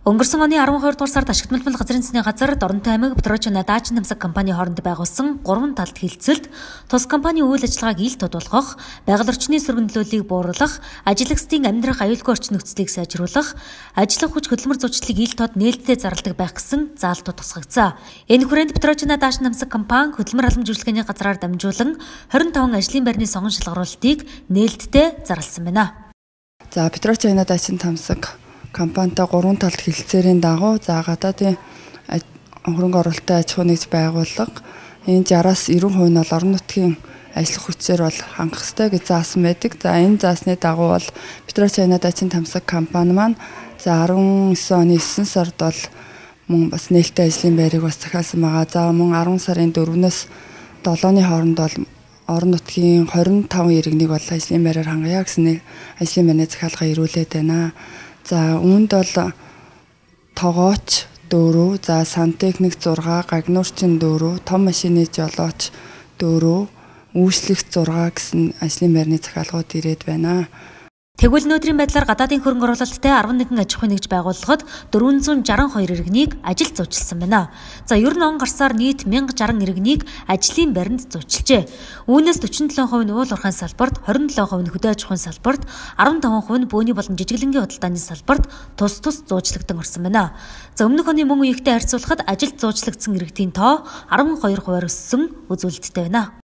Өнгөрсөн оны 12 дугаар сард ашигт мэлбэл газрын засны газар Доронтой аймаг Петрочина Дачин намсаг компани хооронд байгуулсан 3 талт хилцэлд тус компани үйл ажиллагааг ил тод болгох, байгаль орчны сөргөндлөлийг бууруулах, ажилчдын амьдрах аюулгүй орчин нөхцөлийг сайжруулах, ажиллах хүч хөдөлмөр зүйчлэлийг ил тод нээлттэй зарладаг байх гэсэн заалтууд тусгагдсан. Энэ хүрээнд Петрочина Дачин намсаг компани хөдөлмөр албан зөвлөгөөний газраар дамжуулан 25 ажлын байрны сонгон шалгаруулалтыг нээлттэй зарласан байна. За Петрочина Дачин намсаг компанитай 3 талт хилцээрийн дагуу гадаадын хөрөнгө оруулалтын аж ахуй нэгж байгууллага энэ 60-аас 90% нь бол орон нутгийн ажиллах хүчээр бол хангах ёстой гэж заасан байдаг. За энэ заасны дагуу бол Петрочина Дачин намсаг компани маань за 19 оны 9 сард бол мөн бас нээлттэй ажлын байрыг бас захиалсан байгаа. За мөн 10 сарын 4-өөс 7-ны хооронд бол орон нутгийн 25 иргэнийг бол ажлын байраар хангая гэсэн нэг ажлын байрны захиалга ирүүлээд байна. За үүнд бол тогооч 4, за сантехник 6, гагнуурчин 4, том машины жолооч 4, үйлчлэгч 6 гэсэн ажлын байрны захиалгууд ирээд байна. Тэгвэл өнөөдрийн байдлаар гадаадын хөрөнгө оруулалттай 11 аж ахуй нэгж байгууллагад 462 иргэнийг ажилд зуучлсан байна. За ер нь он гарсаар нийт 1060 иргэнийг ажлын байранд зуучлжээ. Үүнээс 47% нь уул уурхайн салбарт, 27% нь хөдөө аж ахуйн салбарт, 15% нь бөөний болон жижиглэнгийн худалдааны салбарт тус зуучлагдсан орсон байна. За өмнөх оны мөн үеигтэй харьцуулахад ажилд зуучлагдсан иргэдийн тоо 12%-аар өссөн үзүүлэлттэй байна.